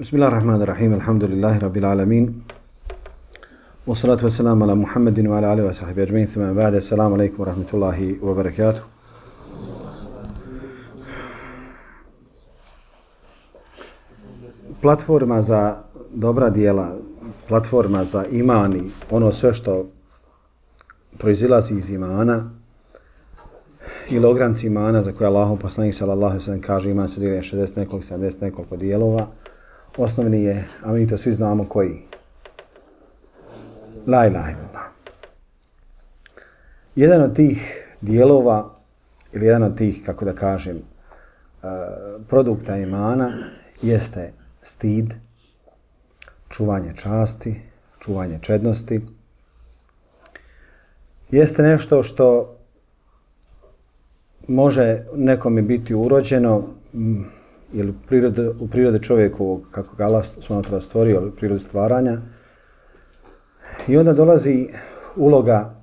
Bismillahirrahmanirrahim, alhamdulillahi rabbil alamin. Wassalatu wassalamu ala Muhammedin wa ala alihi wa sahbihi ajma'in. Thumma ba'da, assalamu alaikum wa rahmatullahi wa barakatuh. Platforma za dobra djela, platforma za iman i ono sve što proizilazi iz imana ili ogranci imana za koje Allahov poslanik sallallahu alejhi ve sellem kaže iman se dijeli 60 nekoliko, 70 nekoliko dijelova. Osnovni je, a mi to svi znamo koji. La ilaha illallah. Jedan od tih dijelova ili jedan od tih, kako da kažem, produkta imana jeste stid, čuvanje časti, čuvanje čednosti. Jeste nešto što može nekome biti urođeno ili u prirode čovjekovog, kako ga Allah subhanahu stvorio, ili u prirode stvaranja. I onda dolazi uloga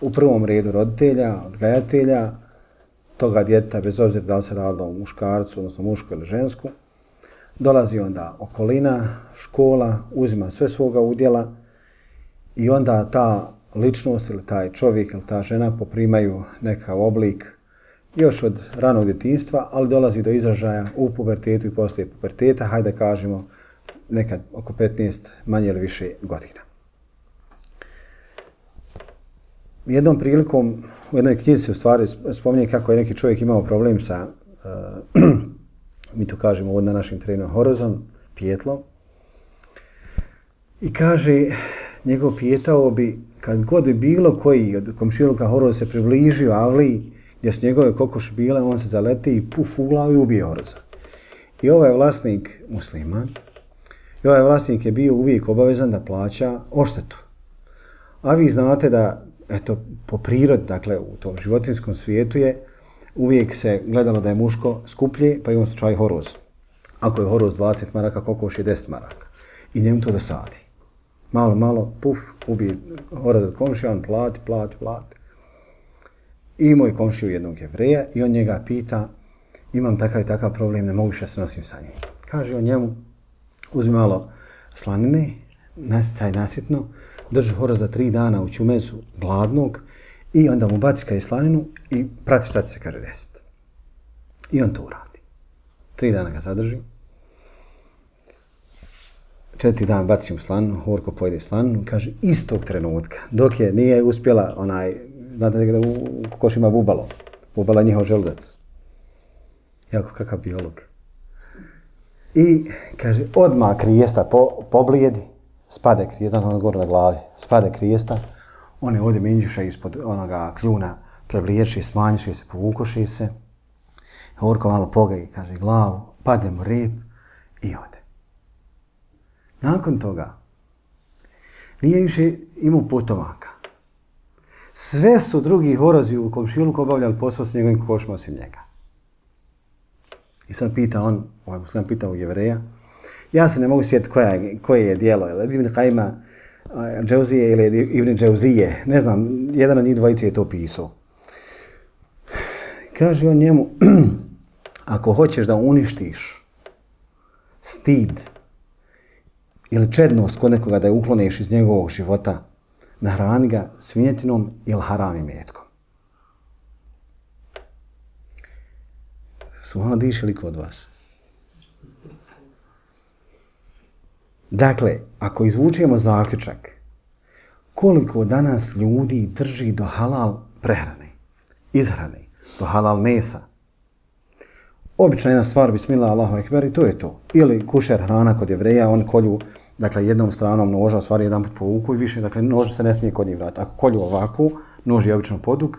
u prvom redu roditelja, odgajatelja, toga djeteta, bez obzira da li se radilo o muškarcu, odnosno mušku ili žensku. Dolazi onda okolina, škola, uzima sve svoga udjela i onda ta ličnost ili taj čovjek ili ta žena poprimaju nekakav oblik još od ranog djetinjstva, ali dolazi do izražaja u pubertetu i poslije puberteta, hajde da kažemo nekad oko 15 manje ili više godina. Jednom prilikom u jednoj knjizi se u stvari spominje kako je neki čovjek imao problem sa, mi to kažemo ovdje na našim terenu, horozom, pijetlom. I kaže, njegov pijetao bi, kad god bi bilo koji od komšiluka horoz se približio avliji, gdje su njegove kokoši bile, on se zaleti i puf u glavu i ubije horoza. I ovaj vlasnik musliman, i ovaj vlasnik je bio uvijek obavezan da plaća odštetu. A vi znate da, eto, po prirodi, dakle, u tom životinskom svijetu je, uvijek se gledalo da je muško skuplje, pa imamo slučaj horoz. Ako je horoz 20 maraka, kokoš je 10 maraka. I njemu to dosadi. Malo, puf, ubije horoz od komšija, on plati. I moj komšiju jednog Jevreja i on njega pita, imam takav i takav problem, ne mogu više se nosim sa njim. Kaže on njemu, uzmi malo slanine, nasicaj nasitno, drži horoza 3 dana u čumezu gladnog i onda mu baci kaj slaninu i prati šta će se, kaže, desiti. I on to uradi. 3 dana ga zadrži. 4. dan baci mu slaninu, Horko pojede slaninu i kaže istog trenutka, dok je nije uspjela znate da u kokoši ima bubalo. Bubalo je njihov želudac. Jako kakav biolog. I kaže, odmah krijesta poblijedi, spade krijesta, ono gore na glavi, spade krijesta, one ode minđuša ispod onoga kljuna, prebliječi, smanjiši se, povukoši se. Horko malo pogaji, kaže, glavu, padne mu rep i ode. Nakon toga, nije više imao potomaka. Sve su drugi horozi u komšiluku obavljali posao s njegovim kokošima osim njega. I sad pita on, ovaj musliman pita u Jevreja, ja se ne mogu sjetiti koje je dijelo, ili Ibn Kajma Džauzije ili Ibn Džauzije, ne znam, jedan od njih dvojice je to pisao. Kaže on njemu, ako hoćeš da uništiš stid ili čednost kod nekoga da je ukloniš iz njegovog života, nahrani ga svinjetinom ili haram imetkom. Subhanallah, diše li kod vas? Dakle, ako izvučemo zaključak, koliko danas ljudi drži do halal prehrane, izhrane, do halal mesa, obična jedna stvar, bismillah, Allahu ekber, i to je to. Ili kušer hrana kod Jevreja, on kolju, dakle, jednom stranom noža, u stvari jedan put povuku i više, dakle, nož se ne smije kod njih vratiti. Ako kolju ovako, nož je obično podug,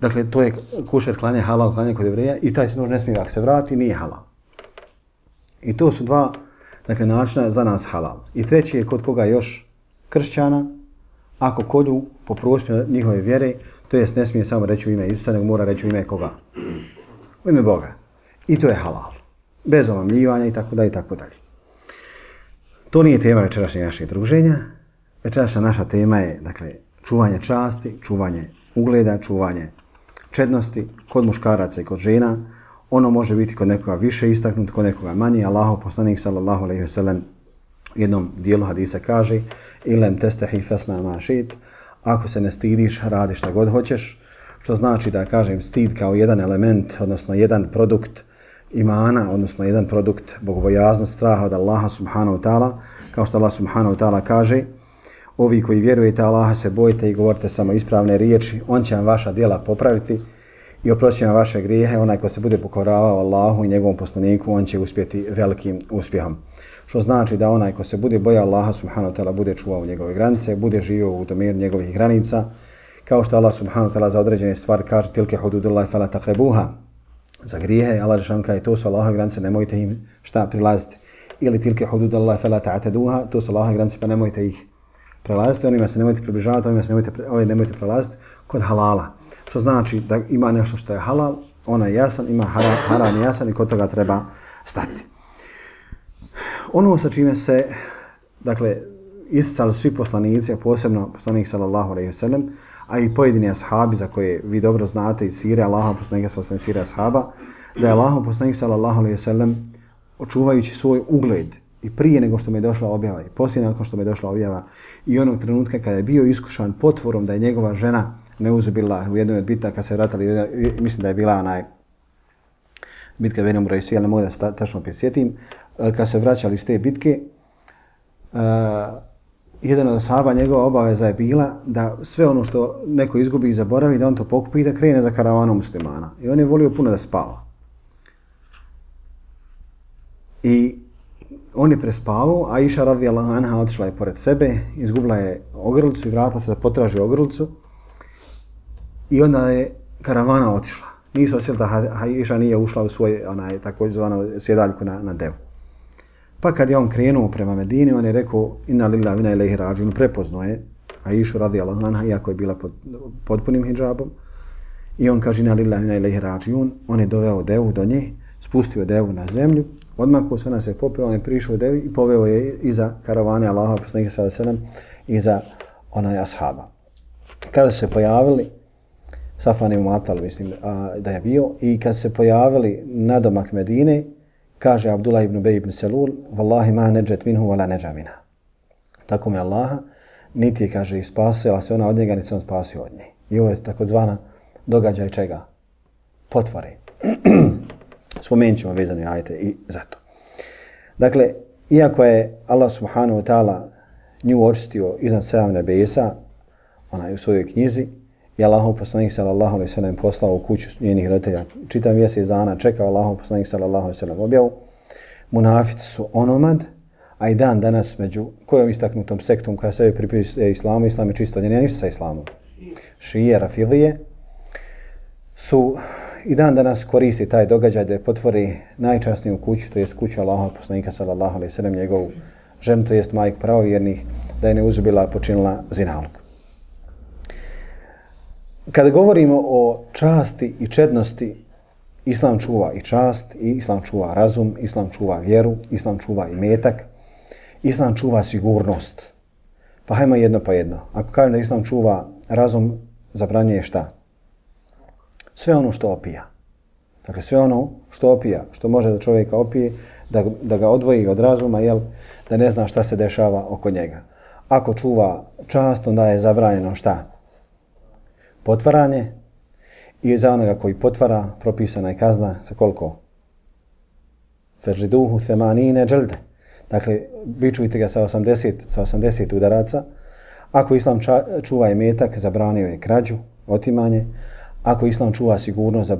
dakle, to je kušer klanje, halal klanje kod Jevreja i taj se nož ne smije, ako se vrati, nije halal. I to su dva, dakle, načina za nas halal. I treći je kod koga još kršćana, ako kolju po prospjenu njihove vjere, to jest ne smije samo reći u ime Isusa, nego mora reći u ime koga? U ime Boga. I to je halal. Bez omamljivanja i tako dalje i tako dalje. To nije tema večerašnjeg našeg druženja. Večerašnja naša tema je, dakle, čuvanje časti, čuvanje ugleda, čuvanje čednosti kod muškaraca i kod žena. ono može biti kod nekoga više istaknuto, kod nekoga manje. Allahov poslanik sallallahu alejhi ve sellem u jednom dijelu hadisa kaže: "Ilem testahi fasna ma šit", ako se ne stidiš, radi šta god hoćeš, što znači da kažem stid kao jedan element, odnosno jedan produkt imana, odnosno jedan produkt bogobojaznosti, straha od Allaha subhanahu wa ta'ala, kao što Allah subhanahu wa ta'ala kaže: "Ovi koji vjerujete Allaha se bojite i govorite samo ispravne riječi, on će vam vaša djela popraviti i oprosti vam vaše grijehe. Onaj ko se bude pokoravao Allahu i njegovom poslaniku, on će uspjeti velikim uspjehom." Što znači da onaj ko se bude bojao Allaha subhanahu wa ta'ala bude čuvao njegove granice, bude živio u domenu njegovih granica, kao što Allah subhanahu wa ta'ala za određene stvari kaže: "Tilke hududullahi fala taqrabuha", za grijehe Allah dželle kaže to su Allahove granice, nemojte im šta prilaziti. Ili tilke hududullahi fala ta'taduha, to su Allahove granice pa nemojte ih prelaziti, onima se nemojte približavati, onima se nemojte prelaziti kod halala. Što znači da ima nešto što je halal, ona je jasan, ima haram jasan i kod toga treba stati. Ono sa čime se, dakle, isticali svi poslanici, a posebno poslanik sallallahu alejhi ve sellem, a i pojedini ashabi za koje vi dobro znate iz sire Allahov poslanika sallallahu alejhi ve sellem, ashaba, da je Allahov poslanik sallallahu alejhi ve sellem očuvajući svoj ugled i prije nego što mu je došla objava i poslije nakon što mu je došla objava i onog trenutka kada je bio iskušan potvorom da je njegova žena neuzubila u jednoj od bitaka se vratili, mislim da je bila bitka Beni Murajsi, ali ne mogu da se tačno prisjetim, kad se vraćali iz te bitke, jedan od ashaba, njegova obaveza je bila da sve ono što neko izgubi i zaboravi, da on to pokupi i da krene za karavanom muslimana. I on je volio puno da spava. I on je prespavao, a Aisha radijallahu anha otišla je pored sebe, izgubila je ogrlicu i vratila se da potraži ogrlicu. I onda je karavana otišla. Nisu osjetili da Aisha nije ušla u svoj takozvanu sjedaljku na devu. Pa kad je on krenuo prema Medini, on je rekao: "Inna lillahi wa inna ilaihi rađiun", prepoznao je Aishu radijallahu anha, iako je bila pod potpunim hidžabom. I on kaže: "Inna lillahi wa inna ilaihi rađiun", on je doveo devu do nje, spustio devu na zemlju, odmah ko se ona se popeo, on je prišao devi i poveo je iza karavane Allaha poslanika sallallahu alejhi ve sellem, iza ashaba. Kada se pojavili, Safan ibn Mu'attal, mislim da je bio, i kad se pojavili na domak Medine, kaže Abdullah ibn Ubej ibn Selul: "Wallahi ma neđet minhu wala neđa minha." Tako mi Allaha, niti je, kaže, spasila se ona od njega, niti se on spasio od nje. I ovo je takozvana događaj čega? Potvore. Spomenut ćemo vezani ajete i zato. Dakle, iako je Allah subhanahu wa ta'ala nju očistio iznad 7 nebesa, ona je u svojoj knjizi, i Allahov poslanik sallallahu alejhi ve sellem poslao u kuću njenih roditelja. Čitav mjesec dana čekao Allahov poslanik sallallahu alejhi ve sellem objavu. Munafici su onomad, a i dan danas među kojom istaknutom sektom koja sebe pripisuje islamu, islam je čisto, nije ništa sa islamom. Šije, rafidije su i dan danas koristi taj događaj da potvori najčasniju kuću, to jest kuću Allahov poslanika sallallahu alejhi ve sellem, njegovu ženu, to jest majku pravovjernih, da je neuzubila počinila zinalog. Kada govorimo o časti i čednosti, islam čuva i čast, i islam čuva razum, islam čuva vjeru, islam čuva imetak, islam čuva sigurnost. Pa hajmo jedno pa jedno. Ako kažem da islam čuva razum, zabranjuje šta? Sve ono što opija. Dakle, sve ono što opija, što može da čovjeka opije, da ga odvoji od razuma, da ne zna šta se dešava oko njega. Ako čuva čast, onda je zabranjeno šta? Potvaranje, i za onoga koji potvara propisana je kazna sa koliko? Fežriduhu themanine dželde. Dakle, bičujte ga sa 80 udaraca. Ako islam čuva imetak, zabranio je krađu, otimanje. Ako islam čuva sigurnost,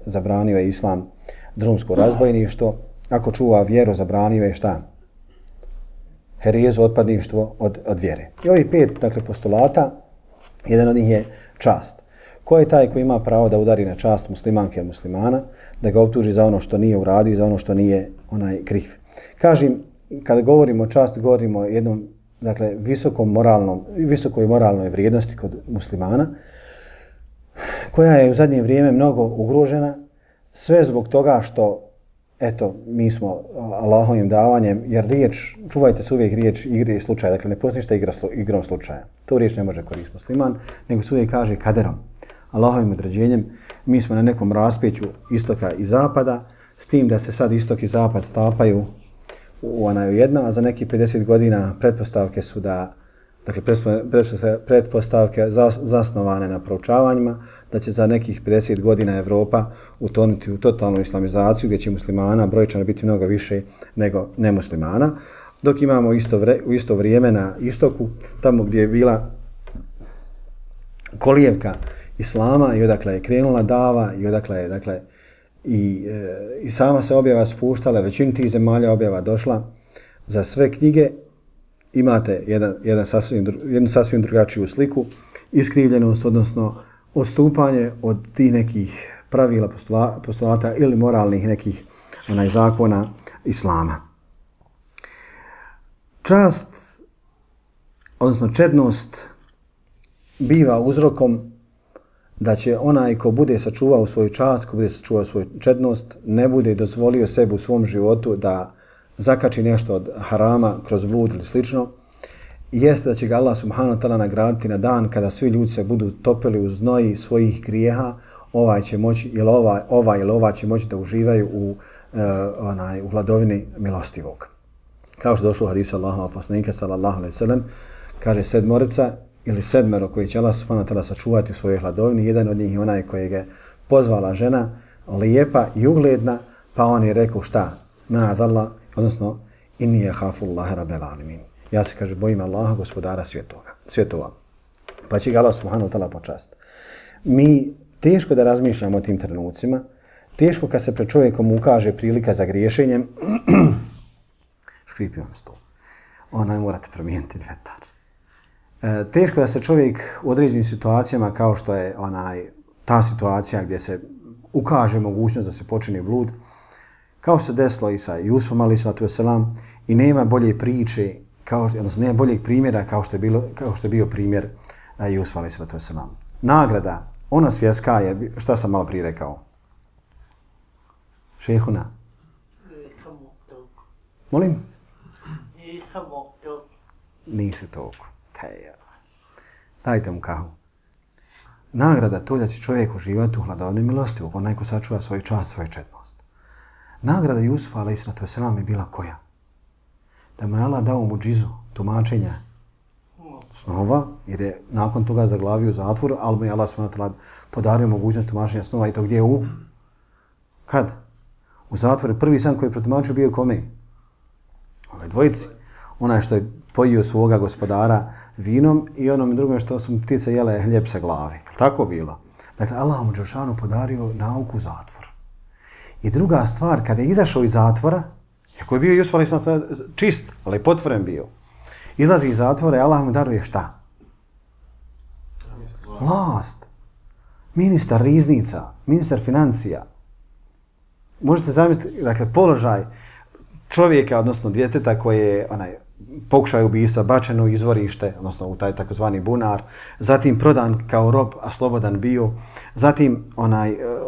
zabranio je islam drumsko razbojništvo. Ako čuva vjeru, zabranio je šta? Herijezu, otpadništvo od vjere. I ovih 5, dakle, postulata, jedan od njih je čast. Ko je taj koji ima pravo da udari na čast muslimanke ili muslimana, da ga optuži za ono što nije uradio i za ono što nije kriv. Kažem, kada govorimo o časti, govorimo o jednom, dakle, visokoj moralnoj vrijednosti kod muslimana, koja je u zadnje vrijeme mnogo ugrožena, sve zbog toga što, eto, mi smo Allahovim davanjem, jer čuvajte se uvijek riječ igre i slučaja, dakle ne postoji ništa igrom slučaja. To riječ ne može koristiti musliman, nego se uvijek kaže kaderom. Allahovim određenjem. Mi smo na nekom raspeću istoka i zapada, s tim da se sad istok i zapad stapaju u jedno, a za nekih 50 godina pretpostavke su da, dakle pretpostavke zasnovane na proučavanjima, da će za nekih 50 godina Evropa utonuti u totalnu islamizaciju, gdje će muslimana brojčano biti mnogo više nego nemuslimana, dok imamo u isto vrijeme na istoku, tamo gdje je bila kolijevka islama i odakle je krenula dava i odakle je, dakle, i sama se objava spuštala, većinu tih zemalja objava došla. Za sve knjige imate jednu sasvim drugačiju sliku, iskrivljenost, odnosno odstupanje od tih nekih pravila, postulata ili moralnih nekih zakona islama. Čast, odnosno čednost, biva uzrokom da će onaj ko bude sačuvao svoju čast, ko bude sačuvao svoju čednost, ne bude dozvolio sebi u svom životu da zakači nešto od harama kroz blud ili slično, jeste da će ga Allah subhanahu wa ta'ala nagraditi na dan kada svi ljudi se budu topili u znoji svojih grijeha, ovaj će moći, ili ova će moći da uživaju u hladovini milostivog. Kao što došlo u hadisu Allahova poslanika sallallahu alejhi ve sellem, kaže sedmero koji će Allah subhanahu wa ta'ala sačuvati u svojoj hladovini, jedan od njih je onaj kojeg je pozvala žena, lijepa i ugledna, pa on je rekao šta? Ma'adallah, odnosno inni yakhafu Allaha rabbal alamin. Ja se, kaže, bojim Allaha, gospodara svjetova. Pa će ga Allah subhanahu wa ta'ala počast. Mi teško da razmišljamo o tim trenucima, teško kad se pred čovjekom ukaže prilika za griješenjem, škripio me stol, morate promijeniti vetar. Teško da se čovjek u određenim situacijama, kao što je ta situacija gdje se ukaže mogućnost da se počini blud, kao što se desilo i sa Jusufom alejhi salatu vesselam, i nema bolje priče, odnosno nema boljeg primjera kao što je bio primjer Jusuf alejhi salatu vesselam. Nagrada, ona svjetska je, šta sam malo prije rekao? Šehuna? Molim? Nisi toliko. Dajte mu kahu. Nagrada to da će čovjek uživati u hladovini milostivog, onaj ko sačuva svoju čast, svoju čednost. Nagrada Jusufa alejhi salatu vesselam je bila koja? Da mu je Allah dao muđizu, tumačenja snova, jer je nakon toga zaglavio u zatvoru, ali mu je Allah subhanahu wa ta'ala podario mogućnost tumačenja snova, i to gdje u? Kad? U zatvoru. Prvi san koji je protumačio bio kome? Onaj dvojici. Onaj što je pojio svoga gospodara vinom i onom drugom što su ptice jele hljeb sa glavi. Tako bilo. Dakle, Allah mu dželešanu podario nauku u zatvor. I druga stvar, kada je izašao iz zatvora, ako je bio Jusuf alejhi salatu vesselam čist, ali potvoren bio, izlazi iz zatvora i Allah mu daruje šta? Vlast. Ministar riznica, ministar financija. Možete zamisliti, dakle, položaj čovjeka, odnosno djeteta koje je pokušaj ubistva, bačeno u izvorište, odnosno u taj takozvani bunar, zatim prodan kao rob, a slobodan bio, zatim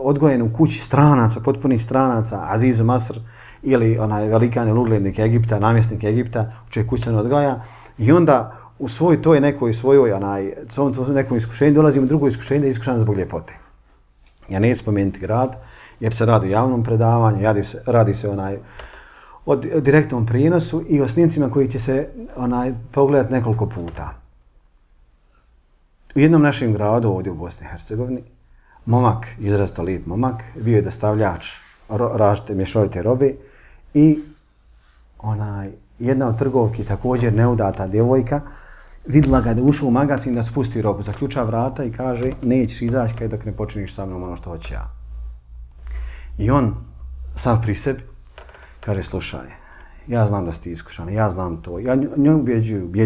odgojen u kući stranaca, potpunih stranaca, Azizu Masr, ili velikan ili uglednik Egipta, namjesnik Egipta, u čijoj kući se on odgaja, i onda u svojoj nekom iskušenju dolazimo drugo iskušenje, da je iskušan zbog ljepote. Ja neću spomenuti grad, jer se radi o javnom predavanju, radi se o direktnom prijenosu i o snimcima koji će se pogledati nekoliko puta. U jednom našem gradu, ovdje u Bosni i Hercegovini, momak, izrazito lijep momak, bio je dostavljač različite mješovite robe i jedna od trgovki, također neudata djevojka, vidjela ga da je ušao u magazin da spusti robu, zaključa vrata i kaže nećeš izaći dok ne počiniš sa mnom ono što hoću ja. I on, sav pri sebi, kaže, slušaj, ja znam da si iskušan, ja znam to. Ja nju ubjeđuju,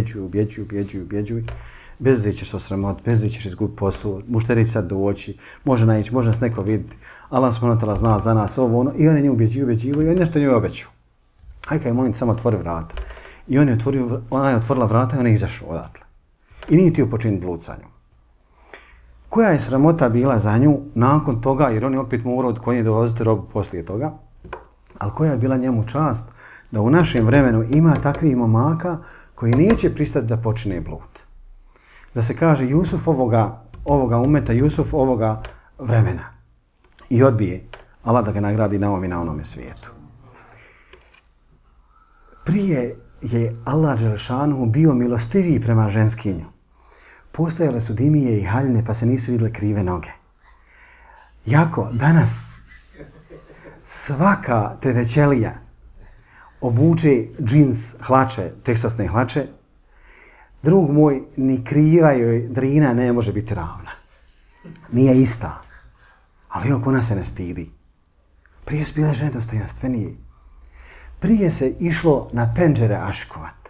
bez da ćeš se osramoti, bez da ćeš izgubiti posao, mušteri će sad doći, može naići, može nas neko vidjeti. Allah subhanahu wa ta'ala zna za nas ovo, ono, i on je nju ubjeđivo i on nešto nju obećao. Hajde, kaj molim, samo otvori vrata. I ona je otvorila vrata i on je izašao odatle. I nije htio počiniti blud sa njom. Koja je sramota bila za nju nakon toga, jer on je opet morao od konje dovoziti robu poslije toga, ali koja je bila njemu čast da u našem vremenu ima takvih momaka koji neće pristati da počine blud. Da se kaže Jusuf ovoga umeta, Jusuf ovoga vremena. I odbije Allah da ga nagradi na ovom i na onome svijetu. Prije je Allah Đelešanu bio milostiviji prema ženskinju. Postojale su dimije i haljne pa se nisu vidjele krive noge. Jako danas svaka tevećelija obuče džins hlače, teksasne hlače, drug moj, ni kriva joj drina ne može biti ravna. Nije ista. Ali oko nas se ne stidi. Prije su bile žene dostojanstvenije. Prije se išlo na penđere aškovat.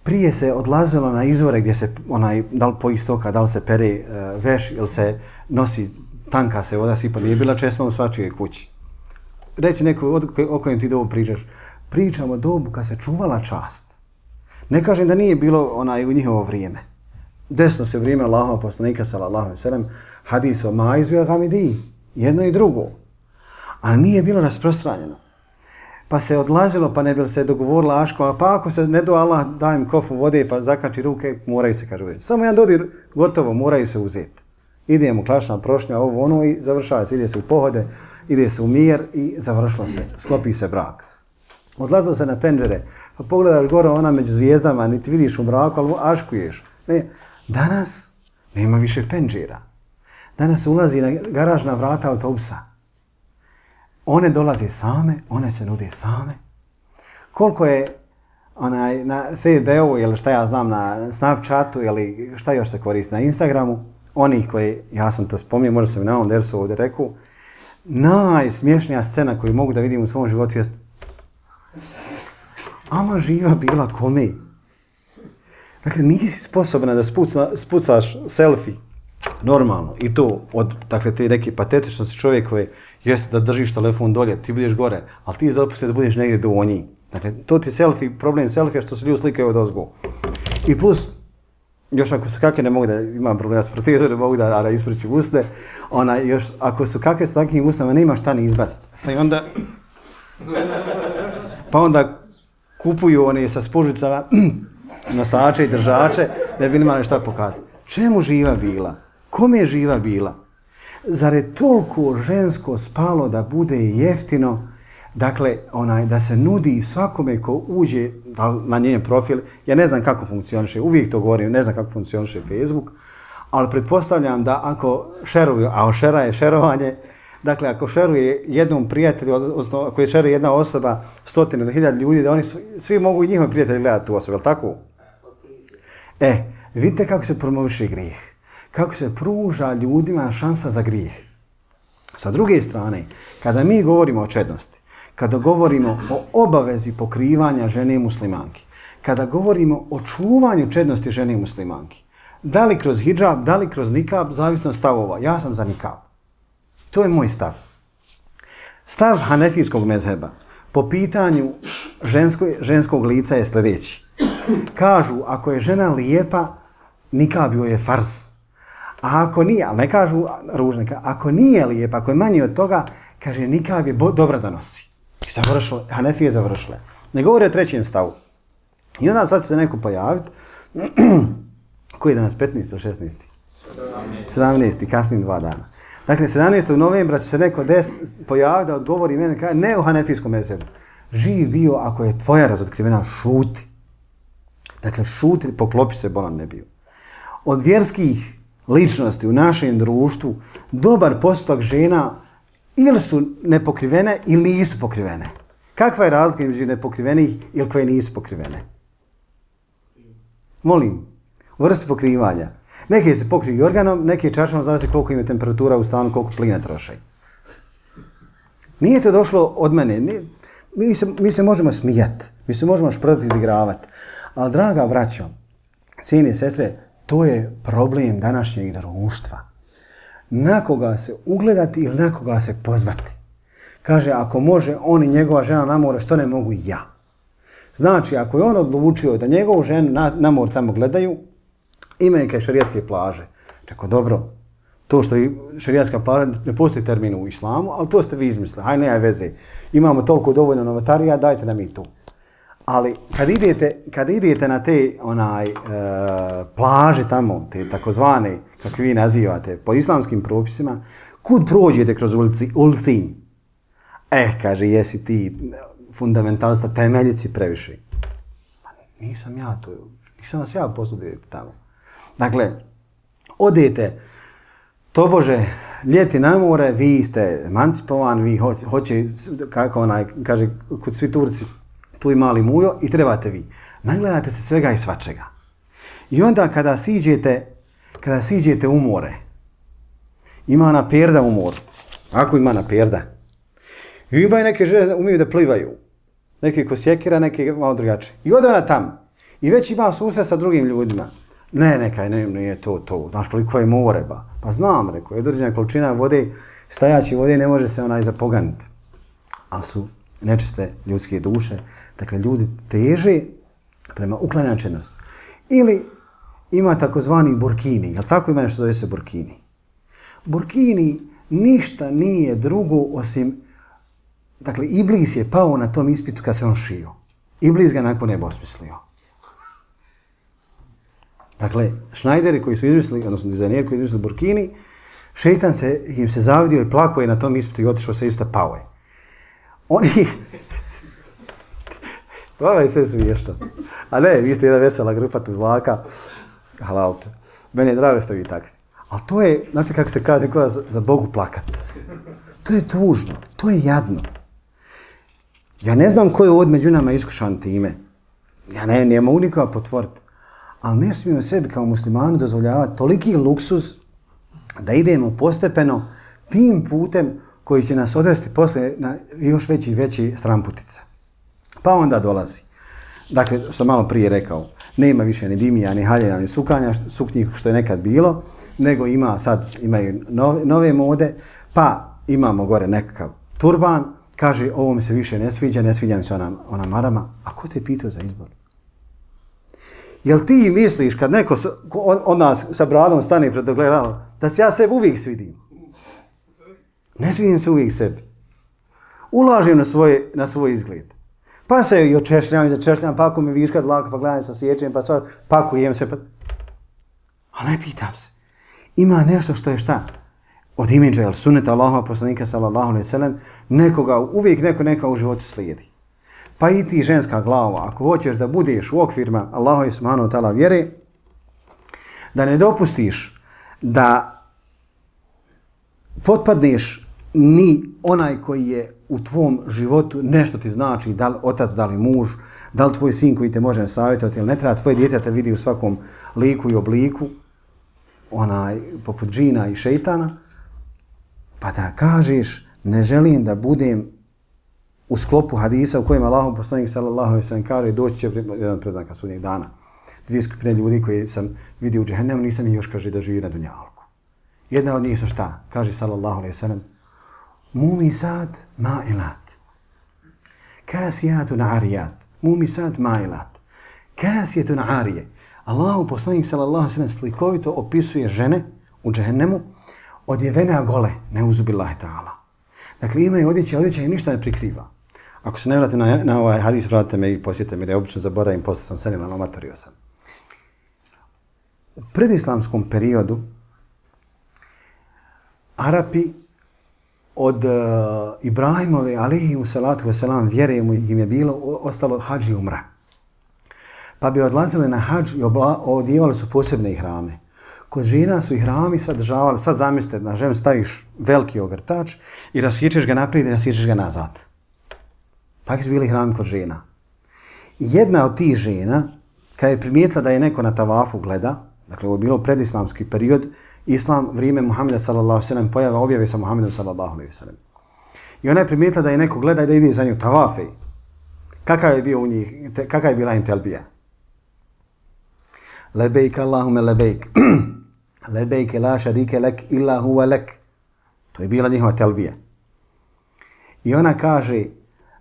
Prije se odlazilo na izvore gdje se, da li po istoka, da li se pere veš ili se nosi, tanka se voda sipa. Nije bila česma u svačijoj kući. Reći neko o kojem ti dobu pričaš. Pričam o dobu kad se čuvala čast. Ne kažem da nije bilo u njihovo vrijeme. Desno se vrijeme Allahova poslanika sallallahu alejhi ve sellem, hadis o maizu i gamidi, jedno i drugo. Ali nije bilo rasprostranjeno. Pa se odlazilo, pa ne bi se dogovorila aškova, pa ako se ne do Allah daj im kofu vode pa zakači ruke, moraju se, kaže, uzeti. Samo jedan dodir, gotovo, moraju se uzeti. Idemo klašna prošnja, ovo ono i završava se, ide se u pohode, ide se u mir i završilo se, sklopi se brak. Odlazilo se na penđere, pa pogledaš gore ona među zvijezdama, niti vidiš u mraku, ali aškuješ. Ne, danas nema više penđera. Danas ulazi na garažna vrata autobusa. One dolaze same, one se nude same. Koliko je na FB-u ili šta ja znam na Snapchatu ili šta još se koristi na Instagramu, onih koji, ja sam to spomnio, možda sam i na ovom dersu ovdje rekao, najsmješnija scena koju mogu da vidim u svom životu jest ama živa bila kome. Dakle, nisi sposobna da spucaš selfie normalno i to od te neke patetičnosti čovjek koji jeste da držiš telefon dolje, ti budeš gore, ali ti zapusti da budeš negdje donji. Dakle, to ti selfie, problem selfija što se ljudi slikaju od ozgo. I plus, još ako su kakve ne mogu da imam problema s protezo, ne mogu da ispričim usne, još ako su kakve s takvim usnama, nema šta ni izbaciti. Pa onda kupuju one sa spužicama nosače i držače da bi imali šta pokazati. Čemu živa bila? Kome je živa bila? Zar je toliko žensko spalo da bude jeftino, dakle, da se nudi svakome ko uđe na njen profil, ja ne znam kako funkcioniše, uvijek to govorim, ne znam kako funkcioniše Facebook, ali pretpostavljam da ako šeruju, a šera je šerovanje, dakle, ako šeruje jednom prijatelju, odnosno ako je šeruje jedna osoba, 100 ili 1000 ljudi, da oni svi mogu i njihovi prijatelji gledati tu osobu, je li tako? Vidite kako se promoviše grijeh. Kako se pruža ljudima šansa za grijeh. Sa druge strane, kada mi govorimo o čednosti, kada govorimo o obavezi pokrivanja žene muslimanki, kada govorimo o čuvanju čednosti žene muslimanki, da li kroz hidžab, da li kroz nikab, zavisno od stavova. Ja sam za nikab. To je moj stav. Stav hanefijskog mezheba po pitanju ženskog lica je sljedeći. Kažu, ako je žena lijepa, nikab joj je farz. A ako nije, ali ne kažu ružnika, ako nije lijepa, ako je manje od toga, kaže nikab je dobra da nosi. I završile, Hanefije završile. Ne govore o trećem stavu. I onda sad će se neko pojaviti, koji je danas 15. ili 16. 17. kasnim 2 dana. Dakle, 17. novembra će se neko pojaviti da odgovori mene, kaže, ne u hanefijskom mezebu. Živ bio ako je tvoja razotkrivena, šuti. Dakle, šuti, poklopi se, bolan ne bio. Od vjerskih ličnosti u našem društvu, dobar postotak žena ili su nepokrivene ili nisu pokrivene. Kakva je razlika između nepokrivenih ili koje nisu pokrivene? Molim, u vrsti pokrivanja. Neke se pokriju jorganom, neke čaršama, zavisi koliko im je temperatura u stanu, koliko plina troše. Nije to došlo od mene. Mi se možemo smijati, mi se možemo šprati, izigravati. Ali, draga braćo, cijene sestre, to je problem današnjeg društva. Na koga se ugledati ili na koga se pozvati. Kaže, ako može on i njegova žena na more, što ne mogu i ja? Znači, ako je on odlučio da njegovu ženu na more tamo gledaju, imaju kaj šerijatske plaže. Čako, dobro, to što je šerijatska plaža, ne postoji termin u islamu, ali to ste vi izmislili. Hajde, ne veze. Imamo toliko dovoljno novatarija, dajte nam i tu. Ali kad idete na te plaže tamo, te takozvane, kako vi nazivate, po islamskim propisima, kud prođete kroz Ulcinj? Kaže, jesi ti fundamentalista, temeljici previše. Nisam ja to, nisam vas ja poslao tamo. Dakle, odete, tobože, ljeti na more, vi ste emancipovan, vi hoće, kako kaže, kod svi Turci, tu i mali mujo i trebate vi. Nagledate se svega i svačega. I onda kada siđete u more, ima ona perda u moru. Ako ima ona perda. I imaju neke žene umiju da plivaju. Neke ko sjekira, neke malo drugačije. I ode ona tamo. I već ima susret sa drugim ljudima. Nije to. Znaš koliko je more, ba. Pa znam, rekao, je određena količina vode, stajaći vode ne može se zapoganiti. Ali su nečiste ljudske duše. Dakle, ljudi teže prema uklanjačenosti. Ili ima takozvani burkini. Jel tako ima nešto zove se burkini? Burkini ništa nije drugo osim... Dakle, Iblis je pao na tom ispitu kad se on šio. Iblis ga nakon neba osmislio. Dakle, šnajderi koji su izmislili, odnosno dizajneri koji su izmislili burkini, šeitan im se zavidio i plako je na tom ispitu i otišao se isto pao je. Oni... Ovo je sve smiješno. A ne, vi ste jedna vesela grupa tu zlaka. Halalte. Meni je drago da ste vi takvi. Ali to je, znate kako se kaže, nekada za Bogu plakat. To je tužno, to je jadno. Ja ne znam ko je ovdje među nama iskušan time. Ja ne mogu nikoga potvoriti. Ali ne smijemo sebi kao muslimani dozvoljavati toliki luksuz da idemo postepeno tim putem koji će nas odvesti posle na još veći stramputice. Pa onda dolazi. Dakle, što sam malo prije rekao, nema više ni dimija, ni haljena, ni suknji što je nekad bilo, nego imaju nove mode, pa imamo gore nekakav turban, kaže ovo mi se više ne sviđa mi se ona marama. A ko te pitao za izbor? Jel ti misliš kad neko od nas sa bradom stane pred ogledalom, da se ja sebi uvijek svidim? Ne svidim se uvijek sebi. Ulažem na svoj izgled. Pa se i očešljam i začešljam, pa ako mi viška dlaka, pa gledam sa sječenjem, pa ako jem se, pa... A ne pitam se. Ima nešto što je šta? Od imidža, jel sunneta Allahova poslanika sallallahu alejhi ve sellem, uvijek neko u životu slijedi. Pa i ti ženska glava, ako hoćeš da budeš u okvirima Allahove subhanahu wa ta'ala vjere, da ne dopustiš da potpadneš ni onaj koji je u tvom životu nešto ti znači, da li otac, da li muž, da li tvoj sin koji te može savjetovati ili ne treba tvoje dijete te vidi u svakom liku i obliku, poput džina i šeitana, pa da kažeš ne želim da budem u sklopu hadisa u kojem Allahov poslanik sallallahu alejhi ve sellem kaže doći će jedan preznaka sudnjeg dana. Dvije skupine ljudi koje sam vidio u džehennemu, nisam ih još kaže da živi na dunjalku. Jedna od njih su šta? Kaže sallallahu alejhi ve sellem mumisat ma'ilat. Kasijatun ariyat. Mumisat ma'ilat. Kasijatun arije. Allahov poslanik sallallahu alejhi ve sellem slikovito opisuje žene u džehennemu odjevene gole, neuzubillahi ta'ala. Dakle, imaju odjeća i ništa ne prikriva. Ako se ne vratim na ovaj hadis, vratite me i posjetite me, jer ja obično zaboravim, postao sam senilan, omatorio sam. U predislamskom periodu Arapi od Ibrahimove, alejhimu salatu veselam, vjere im je bilo ostalo hadž i umra. Pa bi odlazili na hadž i odjevali su posebne ihrame. Kod žena su ihrami sadržavali, sad zamislite, na ženu staviš veliki ogrtač i rasjećeš ga naprijed i rasjećeš ga nazad. Takvi su bili ihrami kod žena. I jedna od tih žena, kad je primijetila da je neko na tavafu gleda, dakle ovo je bilo predislamski period, islam, vrijeme Muhammeda sallallahu alejhi ve sellem, pojava objave sa Muhammedom sallallahu alejhi ve sellem. I ona je primijetila da je neko gleda i da ide za nju tavafe. Kakav je bila im telbija? Lebejk Allahume lebejk. Lebejke la šarike lek illa huwa lek. To je bila njihova telbija. I ona kaže,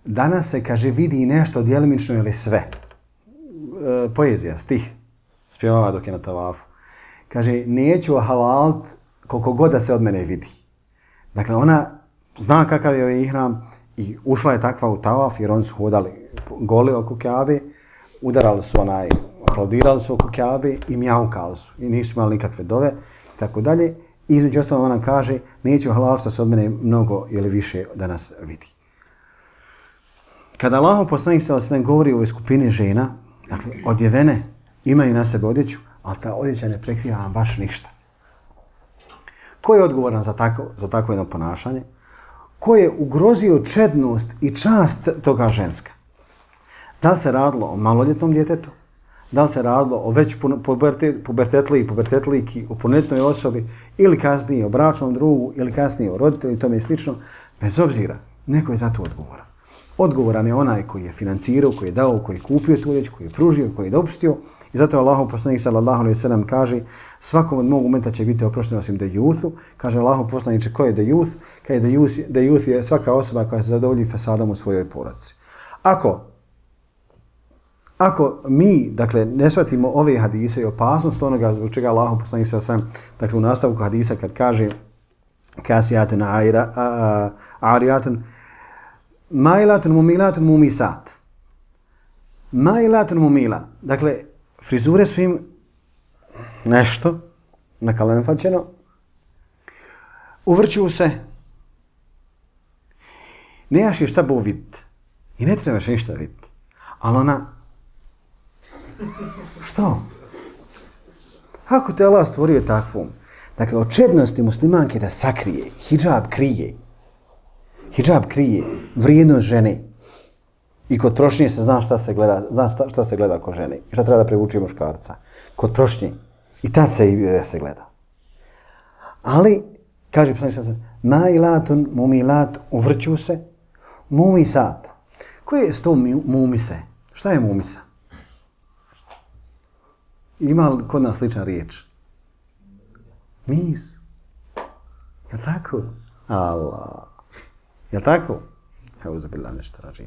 danas se, kaže, vidi nešto djelimično ili sve. Poezija, stih, spjevava dok je na tavafu. Kaže, neću halalt koliko god da se od mene vidi. Dakle, ona zna kakav je ihram I ušla je takva u tavaf jer oni su hodali goli oko Kjabe, udarali su aplaudirali su oko Kjabe i mjaukali su. I nisu imali nikakve dove i tako dalje. I između ostalo ona kaže, neću halal što se od mene mnogo ili više da nas vidi. Kada Allahov poslanik sallallahu alejhi ve sellem govori o skupini žena, dakle, odjevene, imaju na sebe odjeću, ali ta odjeća ne prekriva vam baš ništa. Ko je odgovoran za takvo jedno ponašanje? Ko je ugrozio čednost i čast toga ženska? Da li se radilo o maloljetnom djetetu? Da li se radilo o već pubertetlijki, o punoljetnoj osobi, ili kasnije o bračnom drugu, ili kasnije o roditelju i tome i slično? Bez obzira, neko je za to odgovoran. Odgovoran je onaj koji je financirao, koji je dao, koji je kupio tu riječ, koji je pružio, koji je dopustio. I zato Allahov poslanik sallallahu alejhi ve sellem kaže svakom od mog umeta će biti oprošteno osim dejuthu. Kaže Allahov poslaniče, ko je dejuth? Kaže dejuth je svaka osoba koja se zadovolji fasadom u svojoj porodici. Ako mi, dakle, ne shvatimo ove hadise i opasnost onoga zbog čega Allahov poslanik sallallahu alejhi ve sellem, dakle, u nastavku hadisa kad kaže kasijatun arijatun mailatun mumilatun mumisat. Mailatun mumila. Dakle, frizure su im nešto nakalemfaćeno. Uvrću se. Nemaš je šta bo vidjeti. I ne trebaš ništa vidjeti. Ali ona... Što? Kako te Allah stvorio takvom? Dakle, od čednosti muslimanke da sakrije, hidžab krije. Hidžab krije vrijednost žene. I kod prošnje se zna šta se gleda kod žene. I šta treba da privuči muškarca. Kod prošnje. I tad se gleda. Ali, kaže poslanik sallallahu alejhi ve sellem, mailatun mumilat, uvrću se, mumisat. Koje je to mumise? Šta je mumisa? Ima li kod nas slična riječ? Mis. Je li tako? Allah. Je li tako? Euzu billahi minesh šejtanir racim.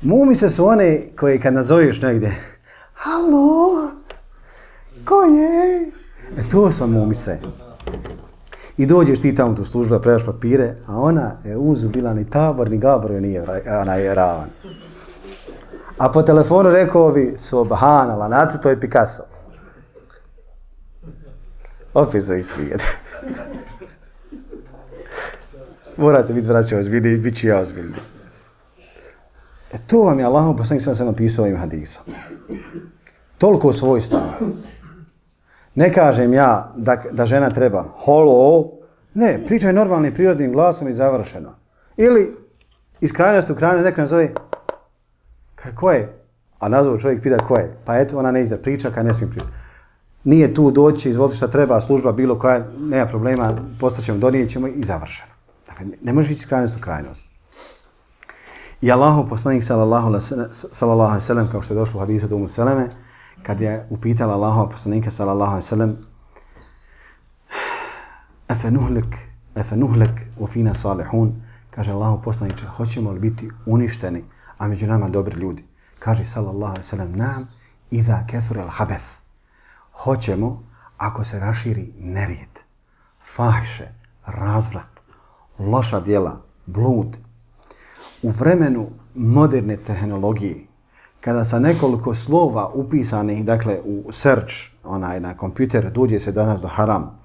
Mumise su one koje kad nazoveš negdje, halo, ko je? To su mumise. I dođeš ti tamo u službu da predaš papire, a ona je uzu bila ni tabor, ni gabor, nije ona je ravan. A po telefonu rekao bi, subhanallah, nacrto je Picasso. Opet se ismijete. Morate biti vraćao ozbiljni i bit ću ja ozbiljni. To vam je Allahov poslanik sallallahu alejhi ve sellem napisao ovim hadisom. Toliko svojstava. Ne kažem ja da žena treba holo, ne, pričaj normalnim prirodnim glasom i završeno. Ili iz krajnosti u krajnost neko nazove, ko je? A nazvao čovjek pita ko je. Pa eto, ona neće da priča kad ne smije pričati. Nije tu doći, izvolite šta treba, služba bilo koja, nema problema, postaćemo, donijećemo i završeno. Dakle, ne može ići iz krajnosti u krajnost. I Allahov poslanik sallallahu alejhi ve sellem, kao što je došlo u hadisu od Umu Seleme, kad je upitala Allahova poslanika sallallahu alejhi ve sellem, Efe nuhlek u fina salihun, kaže Allahov poslaniče, hoćemo li biti uništeni, a među nama dobri ljudi? Kaže sallallahu alejhi ve sellem, nam idha kathura al-khabath. Hoćemo ako se raširi nerijed, fahše, razvrat, loša djela, blud. U vremenu moderne tehnologije, kada sa nekoliko slova upisanih, dakle u search, na kompjuter, dođe se danas do haram,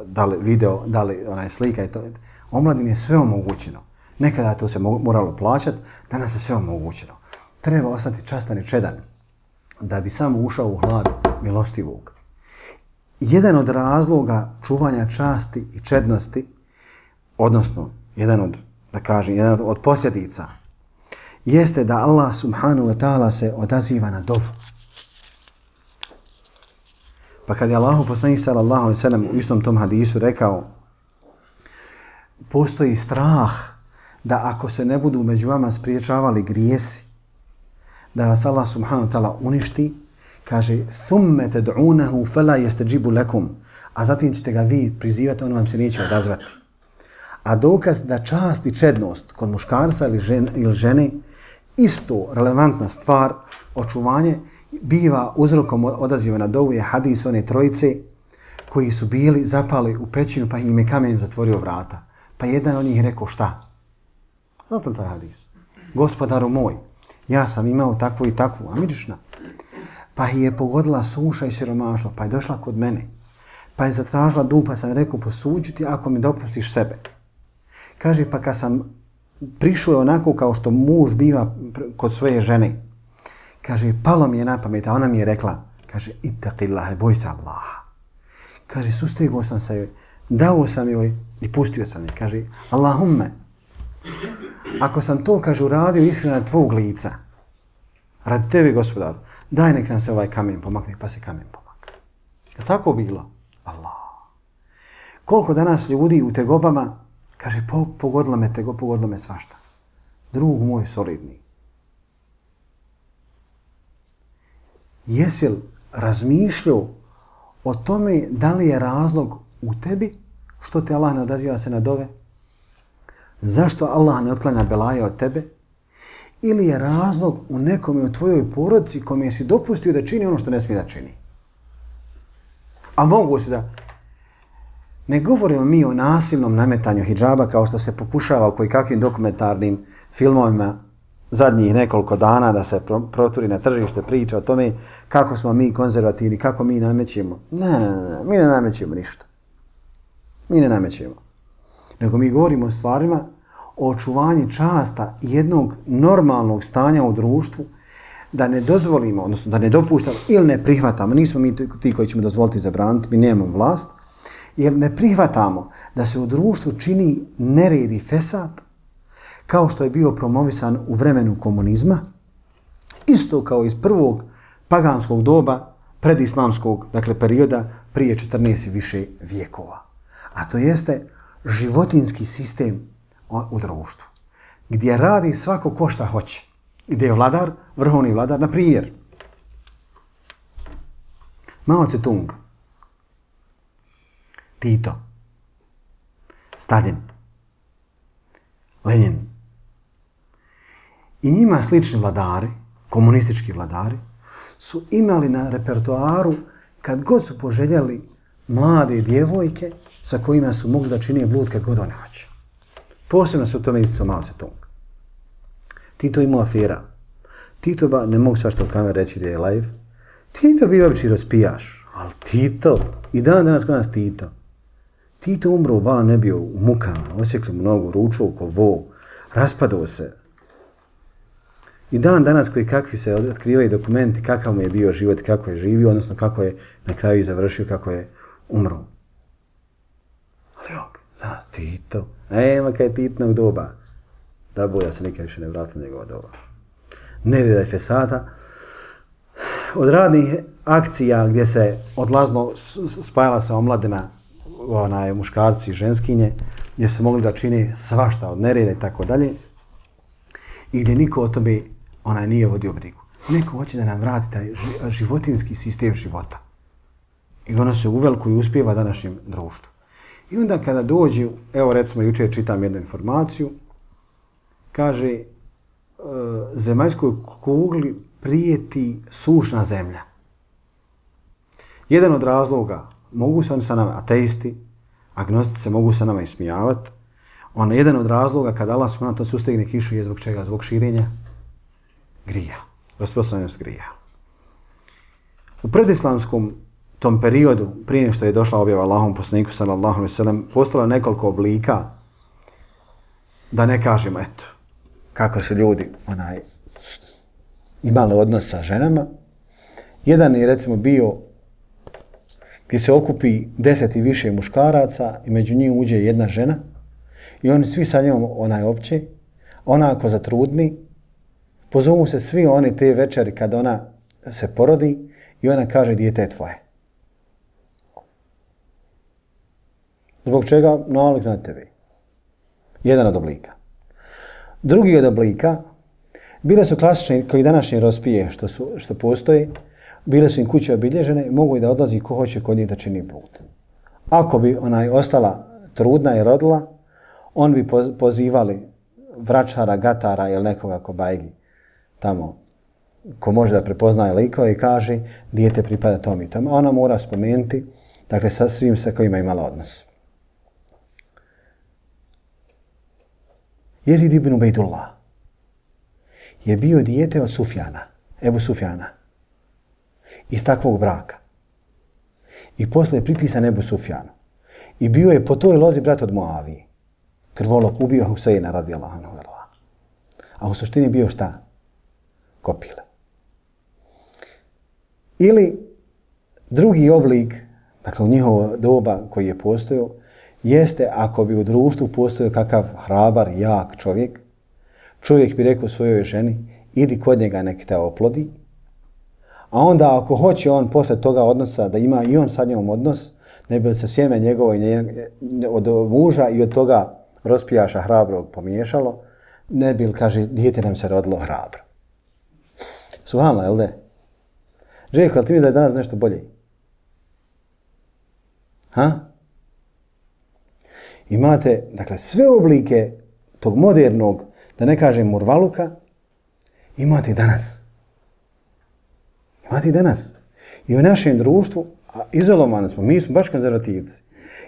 da li video, da li slika i to, omladini je sve omogućeno. Nekada to se moralo plaćati, danas je sve omogućeno. Treba ostati častan i čedan, da bi samo ušao u hlad milostivog. Jedan od razloga čuvanja časti i čednosti, odnosno jedan od posljedica, jeste da Allah subhanahu wa ta'ala se odaziva na dovu. Pa kad je Allahu poslanik sallallahu alejhi ve sellem u istom tom hadisu rekao, postoji strah da ako se ne budu među vama spriječavali grijesi, da vas Allah subhanahu wa ta'ala uništi, kaže, thumme ted'unahu fela yastajibu lakum, a zatim ćete ga vi prizivati, on vam se neće odazvati. A dokaz da čast i čednost kod muškarca ili žene, isto relevantna stvar, očuvanje, biva uzrokom odaziva na dovu je hadis one trojice koji su bili zapali u pećinu pa im je kamen zatvorio vrata. Pa jedan od njih rekao šta? Znate taj hadis? Gospodaru moj, ja sam imao takvu i takvu, a miđišna. Pa je pogodila suša i siromaštvo, pa je došla kod mene. Pa je zatražila dug, pa sam rekao posuđu ti ako mi dopustiš sebe. Kaže, pa kad sam prišao onako kao što muž biva kod svoje žene, kaže, palo mi je na pamet, a ona mi je rekla, kaže, ittaqillaha, boj se Allaha. Kaže, sustegao sam se joj, dao sam joj i pustio sam je. Kaže, Allahumme, ako sam to, kaže, uradio iskreno na tvog lica, radi tebi, gospodaru, daj nek nam se ovaj kamen pomakne, pa se kamen pomakne. Je tako bilo? Allah. Koliko danas ljudi u tegobama, kaže, pogodilo me tego, pogodilo me svašta. Drug moj solidni. Jesi li razmišljao o tome da li je razlog u tebi što te Allah ne odaziva se na dove? Zašto Allah ne otklanja belaje od tebe? Ili je razlog u nekome u tvojoj porodici kome si dopustio da čini ono što ne smije da čini? A mogu se da... Ne govorimo mi o nasilnom nametanju hidžaba kao što se pokušava u kakvim dokumentarnim filmovima zadnjih nekoliko dana da se proturi na tržište priča o tome kako smo mi konzervativni, kako mi namećemo. Ne, mi ne namećemo ništa. Mi ne namećemo. Nego mi govorimo o stvarima o očuvanju časta jednog normalnog stanja u društvu, da ne dozvolimo, odnosno da ne dopuštamo ili ne prihvatamo, nismo mi ti koji ćemo dozvoliti zabraniti, mi nemamo vlast, jer ne prihvatamo da se u društvu čini nered i fesad, kao što je bio promovisan u vremenu komunizma, isto kao iz prvog paganskog doba, predislamskog, dakle perioda prije 14 i više vijekova. A to jeste životinski sistem u društvu, gdje radi svako ko šta hoće, gdje je vladar, vrhovni vladar, na primjer, Mao Tse-tung, Tito, Stalin, Lenin i njima slični vladari, komunistički vladari, su imali na repertoaru kad god su poželjeli mlade djevojke sa kojima su mogli da čine blud kad god one hoće. Posebno se u tome isticao Mao Tse-tung. Tito imao afera. Tito, ne mogu svašta u kamer reći da je live, Tito bio obični raspijaš, ali Tito, i danas kod nas Tito. Tito umro u Bala, ne bio u mukama, osjekli mu nogu, ruču ko vo, raspadao se. I danas koji kakvi se otkrivaju dokumenti, kakav mu je bio život, kako je živio, odnosno kako je na kraju završio, kako je umro. Ali znaš, Tito, nema kaj je Titnog doba. Da boja se nikad više ne vratila njegova doba. Nereda i fesata. Od radnih akcija gdje se odlazno spajala se omladina, muškarci i ženskinje, gdje se mogli da čini svašta od nereda i tako dalje, i gdje niko o tome nije vodio brigu. Neko hoće da nam vrati taj životinski sistem života. I ono se uveliko i uspijeva današnjem društvu. I onda kada dođu, evo recimo jučer čitam jednu informaciju, kaže, zemaljskoj kugli prijeti sušna zemlja. Jedan od razloga, mogu se oni sa nama, ateisti, agnostici se mogu sa nama ismijavati, jedan od razloga kada Allah subhanahu sustegne kišu je zbog čega? Zbog širenja grija, rasprostranjenost grija. U predislamskom tom periodu, prije nego što je došla objava Allahom poslaniku sallallahu alejhi ve sellem, postalo nekoliko oblika, da ne kažemo, eto, kako su ljudi imali odnos sa ženama. Jedan je recimo bio gdje se okupi 10 i više muškaraca i među njih uđe jedna žena i oni svi sa njom opće, ona ako zatrudni, pozovu se svi oni te večeri kad ona se porodi i ona kaže dijete je tvoje. Zbog čega? Nalik na tebi. Jedan od oblika. Drugi od oblika, bile su klasične, koji današnje rospije što postoje, bile su im kuće obilježene i mogu i da odlazi ko hoće kod njih da čini blud. Ako bi ostala trudna i rodila, on bi pozivali vračara, gatara ili nekoga ko bajgi tamo, ko može da prepoznaje likove i kaže dijete pripada tom i tom. Ona mora spomenuti, dakle, sa svim sa kojima imala odnos. Jezid ibn Ubejdullah je bio dijete od Sufjana, Ebu Sufjana, iz takvog braka. I posle je pripisan Ebu Sufjanu. I bio je po toj lozi brat od Muavije. Krvolok ubio Huseina radijallahu anhu. A u suštini bio šta? Kopile. Ili drugi oblik, dakle u njihovo doba koji je postojao, jeste ako bi u društvu postojao kakav hrabar, jak čovjek, čovjek bi rekao svojoj ženi, idi kod njega nek te oplodi, a onda ako hoće on posle toga odnosa da ima i on sa njom odnos, ne bi se sjeme njegovo od muža i od toga raspijaša hrabrog pomiješalo, ne bi, kaže, dijete nam se rodilo hrabro. Subhanallah, jel de? Željko, ali ti misliš da je danas nešto bolje? Ha? Imate, dakle, sve oblike tog modernog, da ne kažem murvaluka, imate i danas. Imate i danas. I u našem društvu, a izolovani smo, mi smo baš konzervativci.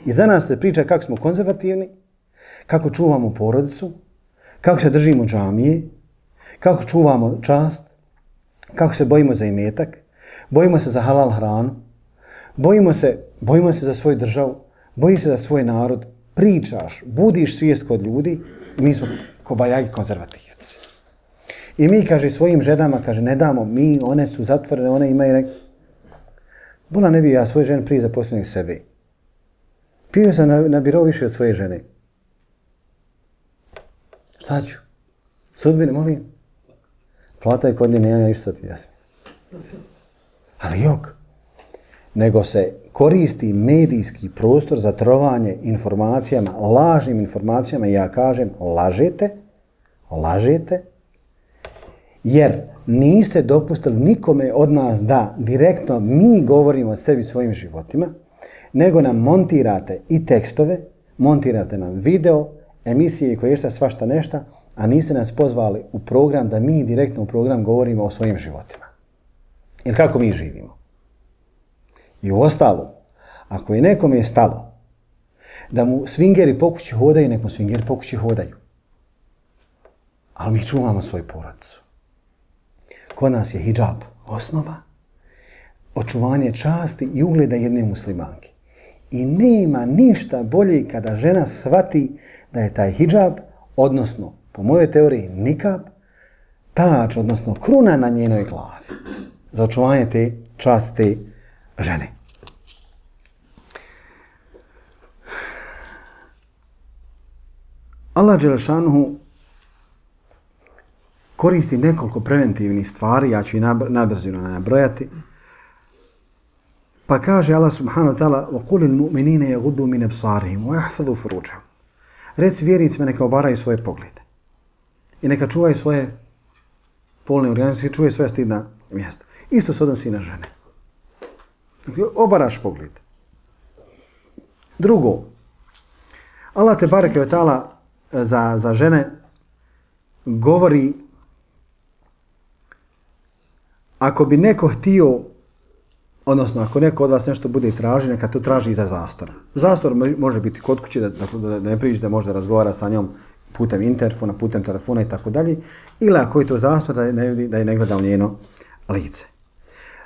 I za nas se priča kako smo konzervativni, kako čuvamo porodicu, kako se držimo džamije, kako čuvamo čast, kako se bojimo za imetak, bojimo se za halal hranu, bojimo se za svoju državu, bojiš se za svoj narod, pričaš, budiš svijest kod ljudi, mi smo kobajagi konzervativci. I mi, kaže, svojim ženama, kaže, ne damo, mi, one su zatvorene, one imaju nek... Bola ne bi ja svoje žene prije zaposlenih sebe. Pio sam na biro više od svoje žene. Šta ću? Sudbine, molim? Plata je kod nje, nema išta ti jasno. Ali jok. Nego se koristi medijski prostor za trovanje informacijama, lažnim informacijama, i ja kažem, lažete, jer niste dopustili nikome od nas da direktno mi govorimo o sebi svojim životima, nego nam montirate i tekstove, montirate nam video, emisije koje je svašta nešta, a niste nas pozvali u program da mi direktno u program govorimo o svojim životima. Jer kako mi živimo. I u ostalom, ako je nekome stalo da mu swingeri po kući hodaju, nek mu swingeri po kući hodaju. Ali mi čuvamo svoju porodicu. Kod nas je hidžab osnova, očuvanje časti i ugleda jedne muslimanke. I nema ništa bolje kada žena shvati da je taj hidžab, odnosno, po mojoj teoriji, nikab, tač, odnosno kruna na njenoj glavi. Za očuvanje te časti te žene. Allah dželešanuhu koristi nekoliko preventivnih stvari, ja ću i nabrzino nabrojati. Pa kaže Allah subhanahu wa ta'ala وَقُلِ الْمُؤْمِنِينَ يَغُدُّوا مِنْ أَبْصَارِهِمْ وَيَحْفَظُوا فُرُوجَهُمْ. Reci vjernicima neka obaraju svoje poglede i neka čuvaju svoje polne organe, čuvaju svoja stidna mjesta. Isto se odnosi i na žene. Dakle, obaraš pogled. Drugo, Allah te bareke ve ta'ala za žene govori, ako bi neko htio, odnosno ako neko od vas nešto bude traži, neka to traži iza zastora. Zastor može biti kod kuće, da ne priđe, da može da razgovara sa njom putem interfona, putem telefona i tako dalje, ili ako je to zastor, da je ne gleda u njeno lice.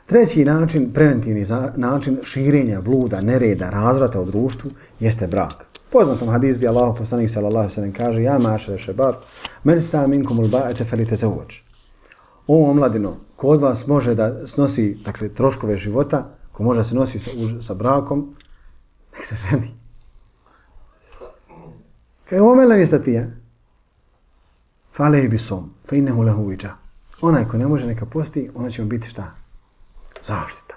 Treći način, preventivni način širenja bluda, nereda, razvrata u društvu jeste brak. Poznatom hadisu gdje Allahu poslanik sallallahu alejhi ve sellem kaže: "Ja mašere šebab, men sta minkumul ba'ate felitazawwaj." O omladino, ko od vas može da snosi, dakle, troškove života, ko može da se nosi sa brakom, nek se ženi. Kaj omela mi sta ja? Falehi bisom, fa innehu lehu iđa. Onaj ko ne može neka posti, ona će mu biti šta? Zaštita.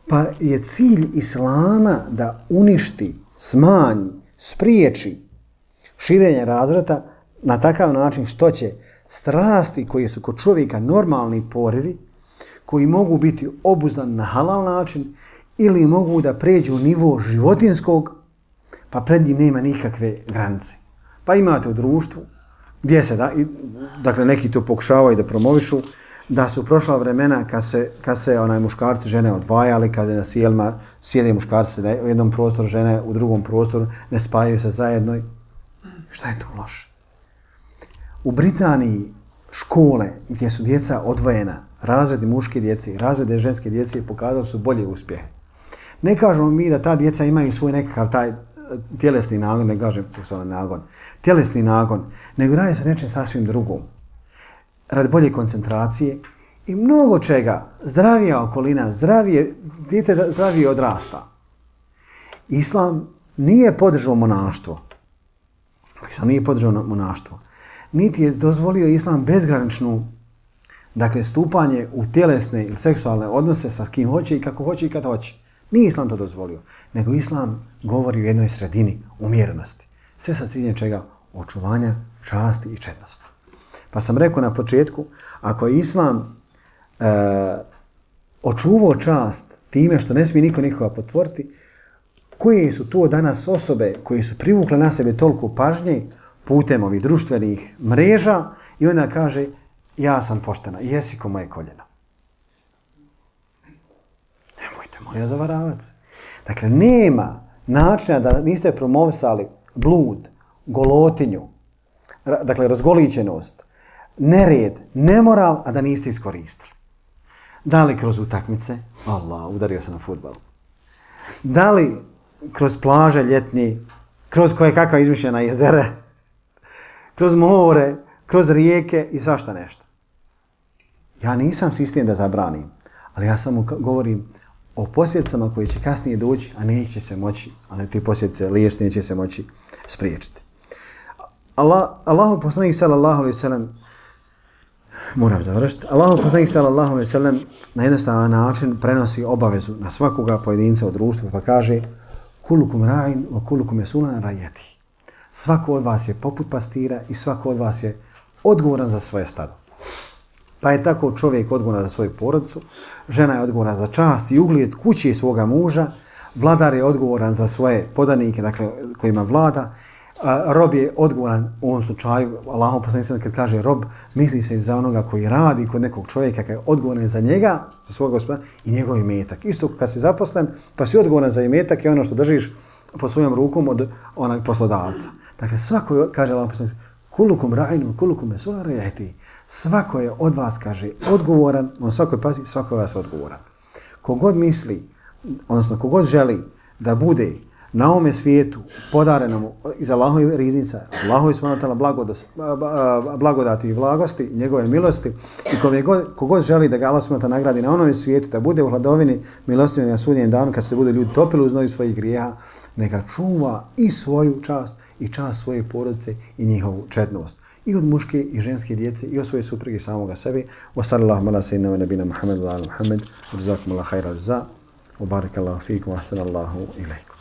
Pa je cilj Islama da uništi, smanji, spriječi širenje razvrata na takav način što će strasti koje su kod čovjeka normalni porivi, koji mogu biti obuzdani na halal način ili mogu da pređu u nivo životinskog, pa pred njim nema nikakve granice. Pa imate u društvu gdje se, dakle neki to pokušavaju da promovišu, da su prošla vremena kad se muškarci žene odvajali, kada na sjelima sjede muškarci u jednom prostoru, žene u drugom prostoru, ne spajaju se zajedno. Šta je to loše? u Britaniji škole gdje su djeca odvojena, razredi muške djece i razrede ženske djece pokazali su bolje uspjehe. Ne kažemo mi da ta djeca imaju svoj nekakav taj tjelesni nagon, ne kažem seksualni nagon, tjelesni nagon, nego radi se nečem sasvim drugom. Radi bolje koncentracije i mnogo čega, zdravija okolina, dijete zdravije odrasta. Islam nije podržao monaštvo. Islam nije podržao monaštvo. Niti je dozvolio Islam bezgraničnu, dakle, stupanje u tjelesne ili seksualne odnose sa kim hoće i kako hoće i kad hoće. Nije Islam to dozvolio, nego Islam govori o jednoj sredini, umjerenosti. Sve sa ciljem čega? Očuvanja časti i čednosti. Pa sam rekao na početku, ako je Islam očuvao čast time što ne smije niko nikoga potvoriti, koje su to danas osobe koje su privukle na sebe toliko pažnje putem ovih društvenih mreža i onda kaže ja sam poštena, jesi ko moje koljeno. Nemojte moja zavaravac. Dakle, nema načina da niste promovisali blud, golotinju, dakle, razgolićenost, nered, nemoral, a da niste iskoristili. Da li kroz utakmice? Allah, udario se na fudbal. Da li kroz plaže ljetni, kroz koje kakva izmišljena jezere, kroz more, kroz rijeke i svašta nešto. Ja nisam sistem da zabranim, ali ja samo govorim o posljedicama koji će kasnije doći, a neće se moći, ali te posljedice liječiti neće se moći spriječiti. Allahu poslanik sallallahu alejhi ve sellem, moram završiti, Allahu poslanik sallallahu alejhi ve sellem na jednostavan način prenosi obavezu na svakoga pojedinca u društvu pa kaže kulukum ra'in wa kulukum mas'ulun ra'iyati. Svako od vas je poput pastira i svako od vas je odgovoran za svoje stado. Pa je tako čovjek odgovoran za svoju porodicu, žena je odgovorna za čast i ugled kuće svoga muža, vladar je odgovoran za svoje podanike, dakle kojima vlada, rob je odgovoran u ovom slučaju, Allahov poslanik kad kaže rob, misli se za onoga koji radi kod nekog čovjeka, koji je odgovoran za njega, za svog gospodara i njegov imetak. Isto kad si zaposlen, pa si odgovoran za imetak i ono što držiš po svojom rukom od onog poslodavca. Dakle, svako, kaže Allahov poslanik, kulukum ra'in, kulukum mas'ulun ra'iyati. Svako je od vas, kaže, odgovoran, on svakoj pazi, svako je vas odgovoran. Kogod misli, odnosno kogod želi da bude na ovome svijetu podarenom iz Allahove riznica, Allahove subhanahu blagodati i blagosti, njegove milosti i kogod želi da ga Allah subhanahu nagradi na onome svijetu, da bude u hladovini milosti na sudnjem danu kad se bude ljudi topili u znoju svojih grijeha, neka čuva i svoju čast i čast svoje porodice i njihovu čednost. I od muške i ženske djece i od svoje supruge i samoga sebe. Wa sallallahu ala sayyidina wa nabina Muhammad wa ala Muhammad. Jazakumullahu khairan jazaa. Wa barakallahu fikum wa ahsanallahu ilaykum.